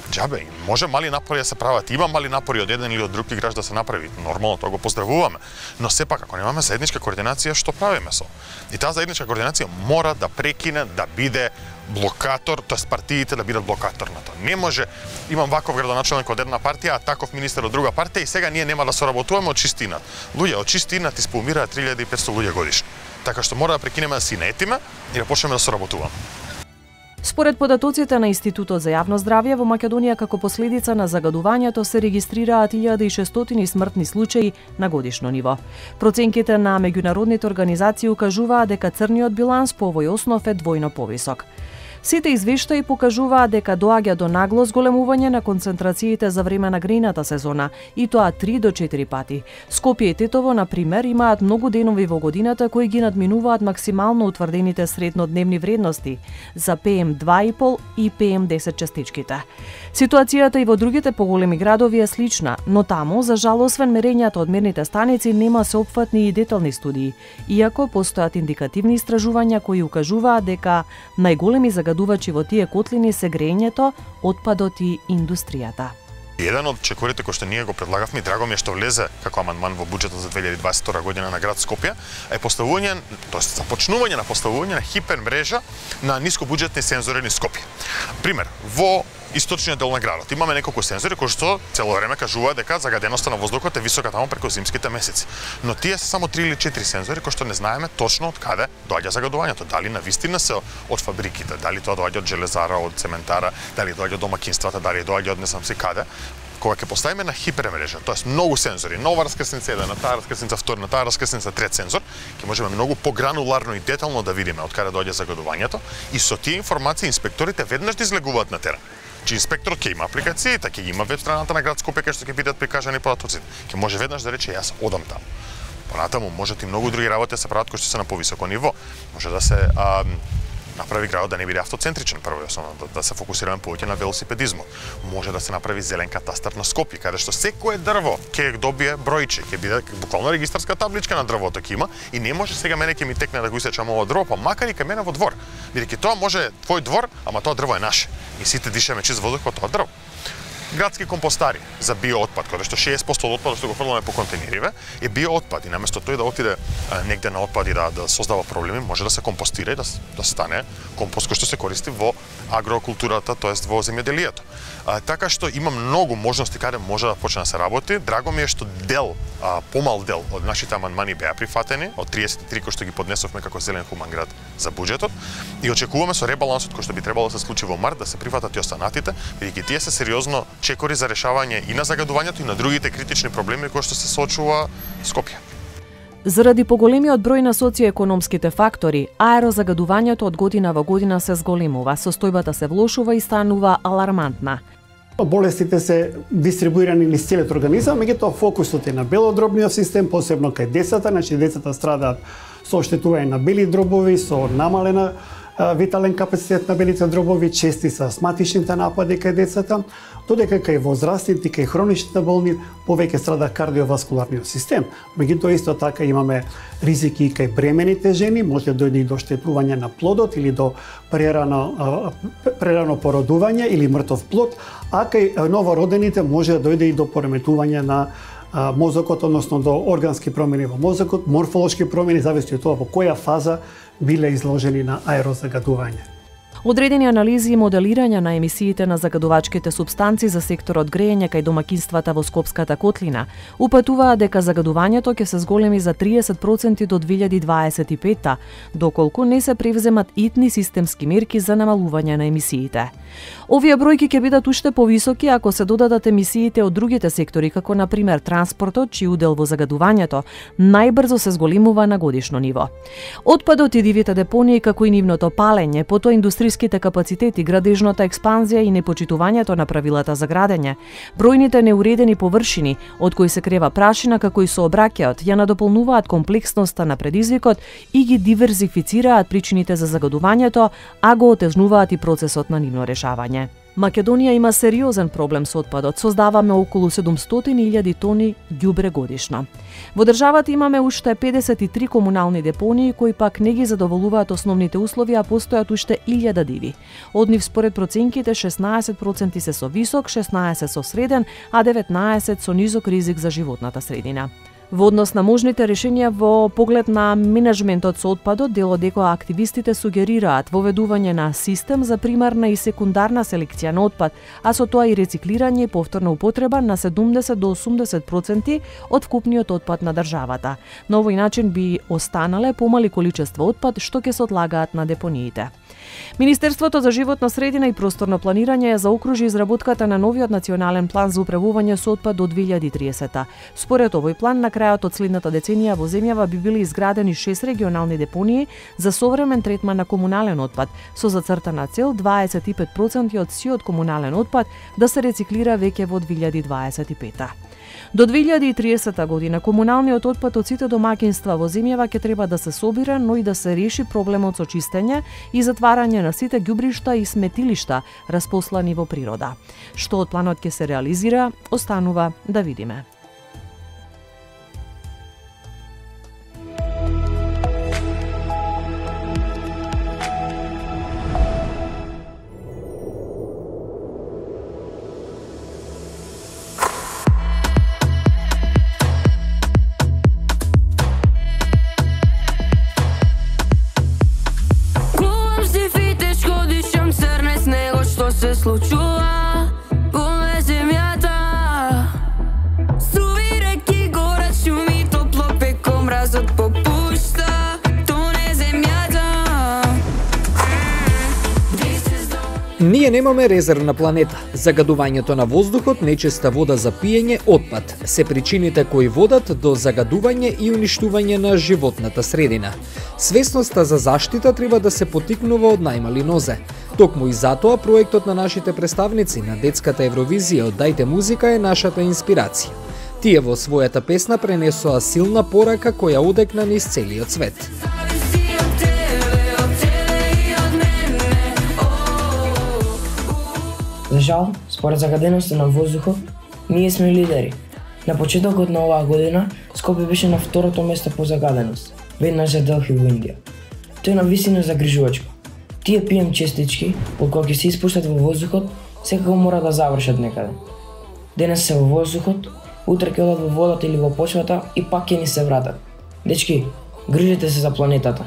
џабе, може мали напори да се прават, има мали напори од еден или од друг играч да се направи. Нормално, тоа го поздравуваме. Но сепак, ако немаме заедничка координација, што правиме со? И таа заедничка координација мора да прекине да биде блокатор, тоест партиите да бидат блокатор на тоа. Не може, имам ваков градоначелник од една партија, а таков министер од друга партија и сега ние нема да соработуваме од чистинат. Луѓе, од чистинат исполнираат 3500 луѓе годишно. Така што мора да прекинеме да си наетиме и да почнеме да соработуваме. Според податоците на Институтот за јавно здравје во Македонија како последица на загадувањето се регистрираат 1600 смртни случаи на годишно ниво. Проценките на меѓународните организации укажуваат дека црниот биланс по овој основ е двојно повисок. Сите извештаи покажуваат дека доаѓа до нагло зголемување на концентрациите за време на грејната сезона, и тоа 3 до 4 пати. Скопје и Тетово, на пример, имаат многу денови во годината кои ги надминуваат максимално утврдените среднодневни вредности за PM2,5 и PM10 частичките. Ситуацијата и во другите поголеми градови е слична, но таму, за жал, освен мерењата од мерните станици, нема сеопфатни и детални студии, иако постојат индикативни истражувања кои укажуваат дека најголеми загадувачи во тие котлини се грејењето, отпадот и индустријата. Еден од чекорите кои што ние го предлагавме, драго ми е што влезе како амандман во буџетот за 2022 година на град Скопје, е поставување, тоест започнување на поставување на хипермрежа на нискобуџетни сензори низ Скопје. Пример, во источниот дел на градот имаме неколку сензори кои што цело време кажуваат дека загаденоста на воздухот е висока таму преку зимските месеци. Но тие се само 3 или 4 сензори кои што не знаеме точно од каде доаѓа загадувањето, дали навистина се од фабриките, дали тоа доаѓа од железара, од цементара, дали доаѓа од домаќинствата, дали доаѓа од не знам си каде. Кога ќе поставиме на хипермрежа, тоест многу сензори, нова раскрсница еден, на таа раскрсница втор, на таа раскрсница трет сензор, ќе можеме многу погрануларно и детално да видиме од каде доаѓа загадувањето и со тие информации инспекторите веднаш да излегуваат на терен. Че инспекторот ќе има апликацијата, ќе има веб страната на град Скопје кај што ќе бидат прикажани податоците. Ќе може веднаш да рече јас одам таму. Понатаму можат и многу други работи да се прават кои што се на повисоко ниво. Може да се направи градот да не биде автоцентричен прво и основно, да се фокусираме повеќе на велосипедизмот. Може да се направи зелен катастар на Скопје, каде што секое дрво ќе добие бројче, ќе биде буквално регистарска табличка на дрвото ќе има и не може сега мене ќе ми текне да го исечам ово дрво, па макар и кај мене во двор. Бидејќи тоа може твој двор, ама тоа дрво е наше. И сите дишеме чист воздух во тоа дрво. Градски компостари за биоотпад, каде што 60% од отпадот што го фрламе по контейнериве е биоотпад и наместо тој да отиде негде на отпад и да создава проблеми, може да се компостира и да стане компост кој што се користи во агрокултурата, тоест во земјоделието. Така што има многу можности каде може да почне да се работи. Драго ми е што помал дел од нашите амандмани беа прифатени, од 33 кои што ги поднесовме како зелен хуман град за буџетот и очекуваме со ребалансот кој што би требало да се случи во март да се прифатат и останатите, бидејќи тие се сериозно чекори за решавање и на загадувањето и на другите критични проблеми кои што се соочува Скопје. Заради поголемиот број на социоекономските фактори, аерозагадувањето од година во година се зголемува, состојбата се влошува и станува алармантна. Болестите се дистрибуирани низ целиот организам, меѓутоа фокусот е на белодробниот систем, посебно кај децата, значи децата страдаат со оштетување на бели дробови, со намалена витален капацитет на белите дробови, чести се астматичните напади кај децата, додека кај возрастните, кај хроничните болни, повеќе страда кардиоваскуларниот систем. Меѓутоа исто така имаме ризики и кај бремените жени, може да дојде и до оштетување на плодот или до прерано породување или мртов плод, а кај новородените може да дојде и до пореметување на мозокот, односно до органски промени во мозокот, морфолошки промени, зависи од тоа во која фаза биле изложени на аерозагадување. Одредени анализи и моделирања на емисиите на загадувачките супстанци за секторот грејење кај домакинствата во Скопската котлина упатуваат дека загадувањето ќе се зголеми за 30% до 2025, доколку не се превземат итни системски мерки за намалување на емисиите. Овие бројки ќе бидат уште повисоки ако се додадат емисиите од другите сектори, како на пример транспортот, чиј удел во загадувањето најбрзо се зголемува на годишно ниво. Отпадот и дивите депонии, како и нивното палење, потоа индустријските капацитети, градежната експанзија и непочитувањето на правилата за градење, бројните неуредени површини од кои се крева прашина како и сообраќајот, ја надополнуваат комплексноста на предизвикот и ги диверзифицираат причините за загадувањето, а го отежнуваат и процесот на нивно решавање. Македонија има сериозен проблем со отпадот. Создаваме околу 700.000 тони ѓубре годишно. Во државата имаме уште 53 комунални депонии кои пак не ги задоволуваат основните услови, а постојат уште 1000 диви. Од нив според проценките 16% се со висок, 16% со среден, а 19% со низок ризик за животната средина. Во однос на можните решенија во поглед на менеджментот со отпадот, дел од екоактивистите сугерираат воведување на систем за примарна и секундарна селекција на отпад, а со тоа и рециклирање и повторна употреба на 70 до 80% од вкупниот отпад на државата. На овој начин би останале помали количество отпад што ќе се одлагаат на депониите. Министерството за животна средина и просторно планирање ја заокружи изработката на новиот национален план за управување со отпад до 2030. Според овој план, на крајот од следната деценија во земјава би били изградени 6 регионални депонии за современ третман на комунален отпад, со зацртана цел 25% од сиот комунален отпад да се рециклира веќе во 2025. До 2030 година комуналниот отпад од сите домаќинства во земјава ќе треба да се собира, но и да се реши проблемот со чистење и затварање на сите ѓубришта и сметилишта распослани во природа. Што од планот ќе се реализира, останува да видиме. Се случува по земјата. Струви реки горат, шуми топло пеко, мразот попушта, тоне земјата. Ние немаме резервна планета. Загадувањето на воздухот, нечиста вода за пиење, отпад се причините кои водат до загадување и уништување на животната средина. Свесноста за заштита треба да се потикнува од најмали нозе. Токму и затоа проектот на нашите представници на детската Евровизија од Дајте музика е нашата инспирација. Тие во својата песна пренесоа силна порака која одекна низ целиот свет. Зависи од тебе и од мене. За жал, според загаденоста на воздухот, ние сме лидери. На почетокот на оваа година, Скопје беше на второто место по загаденост, веднаш за Делхи во Индија. Тоа е навистина загрижувачко. Тие PM честички, кога ќе се испуштат во воздухот, секако мора да завршат некаде. Денес се во воздухот, утре ќе одат во водата или во почвата и пак ќе ни се вратат. Дечки, грижете се за планетата.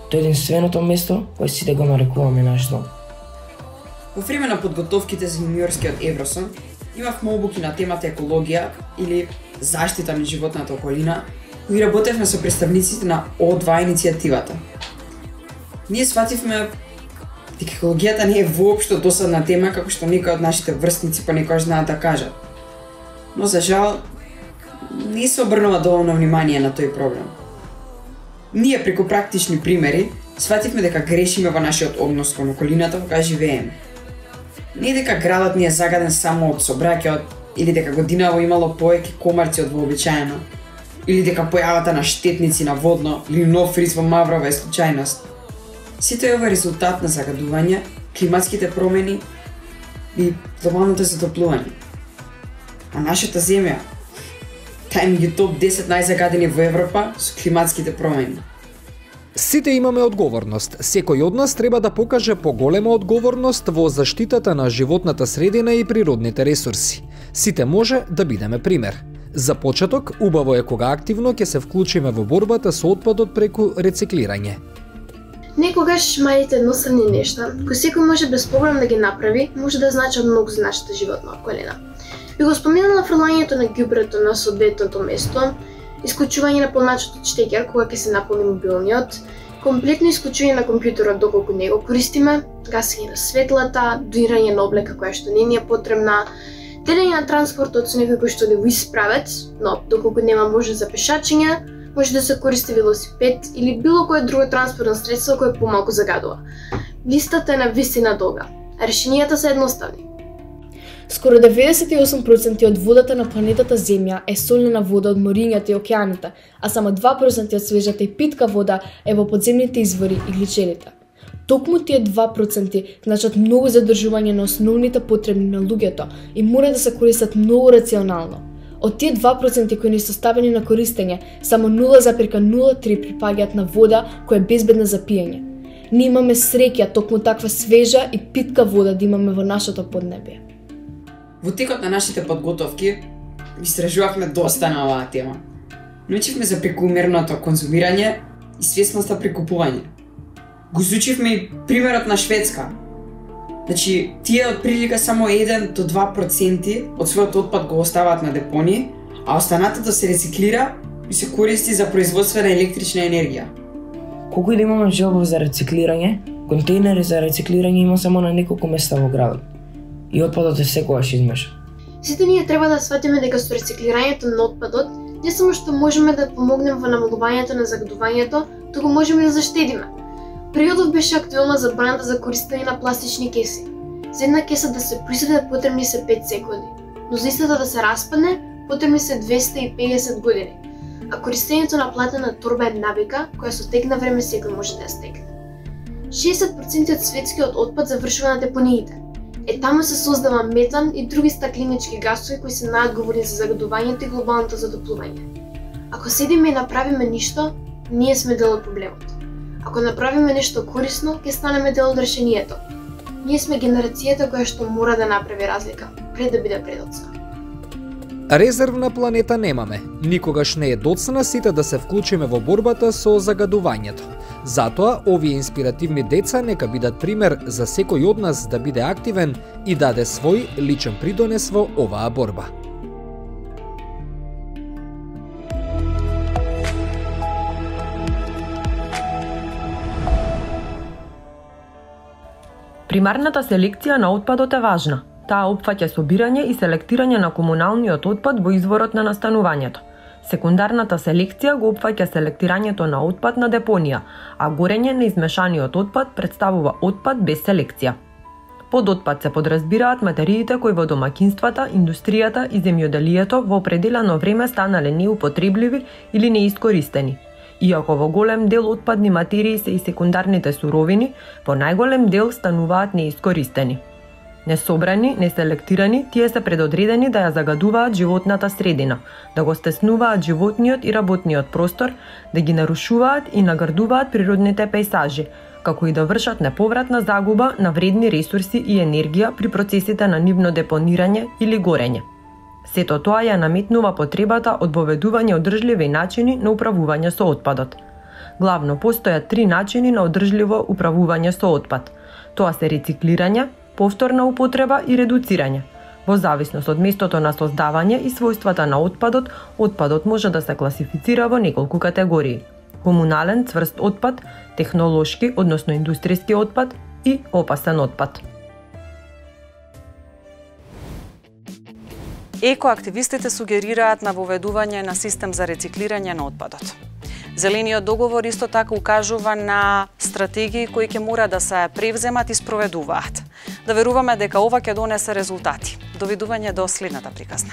Тоа е единственото место кое сите го нарекуваме наш дом. Во време на подготовките за јуниорскиот Евросон, имавме обуки на темата екологија или заштита на животната околина, кои работевме со представниците на О2 иницијативата. Ние свативме дека екологијата не е воопшто досадна тема како што некои од нашите врсници понекогаш знаат да кажат. Но за жал, не се обрнува доволно внимание на тој проблем. Ние преку практични примери свативме дека грешиме во нашиот однос кон околината кога живееме. Не дека градот ни е загаден само од сообраќајот, или дека годинава имало повеќе комарци од вообичаено, или дека појавата на штетници на водно или нов риз во Маврова е случајност. Сите ова е резултат на загадување, климатските промени и глобалното затоплување. А нашата земја, таа е меѓу топ 10 најзагадени во Европа со климатските промени. Сите имаме одговорност. Секој од нас треба да покаже поголема одговорност во заштитата на животната средина и природните ресурси. Сите може да бидеме пример. За почеток, убаво е кога активно ќе се вклучиме во борбата со отпадот преку рециклирање. Некогаш малите едноставни нешта, кои секој може без проблем да ги направи, може да значат многу за нашата животна околина. Би го споменала фрлањето на ѓубрето на соодветното место, исклучување на полначот од штекер кога ќе се наполни мобилниот, комплетно исклучување на компјутерот доколку не го користиме, гасење на светлата, дуирање на облека која што не ни е потребна, делење на транспортот со некој кој што да го исправец, но доколку нема можност за пешачење, може да се користи велосипед или било кое друго транспортно средство кое помалку загадува. Листата е навистина долга, а решенијата се едноставни. Скоро 98% од водата на планетата Земја е солена вода од морињата и океаните, а само 2% од свежата и питка вода е во подземните извори и гличерите. Токму тие 2% значат многу задржување на основните потребни на луѓето и мора да се користат многу рационално. Од тие 2% кои не се ставени на користење, само 0,03 припаѓаат на вода која е безбедна за пиење. Ние имаме среќа токму таква свежа и питка вода да имаме во нашето поднебие. Во текот на нашите подготовки истражувавме доста на оваа тема. Научивме за прекумерното конзумирање и свесноста при купување. Го изучивме и примерот на Шведска. Значи, тие од прилика само 1 до 2% од својот отпад го оставаат на депонии, а останатото се рециклира и се користи за производство на електрична енергија. Колку и да имаме желба за рециклирање, контейнери за рециклирање има само на неколку места во градот. И отпадот е секогаш измешан. Сите ние треба да сватиме дека со рециклирањето на отпадот не само што можеме да помогнеме во намалувањето на загадувањето, туку можеме да заштедиме. Периодов беше актуелна забраната за користење на пластични кеси. За една кеса да се произведе потребни се 5 секунди, но за истата да се распадне потребни се 250 години. А користењето на платена торба е навика која со тек на време секој може да ја стекне. 60% од светскиот отпад завршува на депониите. Таму се создава метан и други стакленички гасови кои се најодговорни за загадувањето и глобалното затоплување. Ако седиме и направиме ништо, ние сме дел од проблемот. Ако направиме нешто корисно, ќе станеме дел од решението. Ние сме генерацијата која што мора да направи разлика, пред да биде предоцна. Резервна планета немаме. Никогаш не е доцна сите да се вклучиме во борбата со загадувањето. Затоа, овие инспиративни деца нека бидат пример за секој од нас да биде активен и даде свој личен придонес во оваа борба. Примарната селекција на отпадот е важна. Таа опфаќа собирање и селектирање на комуналниот отпад во изворот на настанувањето. Секундарната селекција го опфаќа селектирањето на отпад на депонија, а горење на измешаниот отпад представува отпад без селекција. Под отпад се подразбираат материите кои во домакинствата, индустријата и земјоделието во определено време станале неупотребливи или неискористени. Иако во голем дел отпадни материи се и секундарните суровини, во најголем дел стануваат неискористени. Несобрани, неселектирани, тие се предодредени да ја загадуваат животната средина, да го стеснуваат животниот и работниот простор, да ги нарушуваат и нагрдуваат природните пејсажи, како и да вршат неповратна загуба на вредни ресурси и енергија при процесите на нивно депонирање или горење. Сето тоа ја наметнува потребата од воведување одржливи начини на управување со отпадот. Главно постојат 3 начини на одржливо управување со отпад. Тоа се рециклирање, повторна употреба и редуцирање. Во зависност од местото на создавање и својствата на отпадот, отпадот може да се класифицира во неколку категории: комунален цврст отпад, технолошки, односно индустријски отпад и опасен отпад. Екоактивистите сугерираат на воведување на систем за рециклирање на отпадот. Зелениот договор исто така укажува на стратегии кои ќе мора да се превземат и спроведуваат. Да веруваме дека ова ќе донесе резултати. Довидување до следната приказна.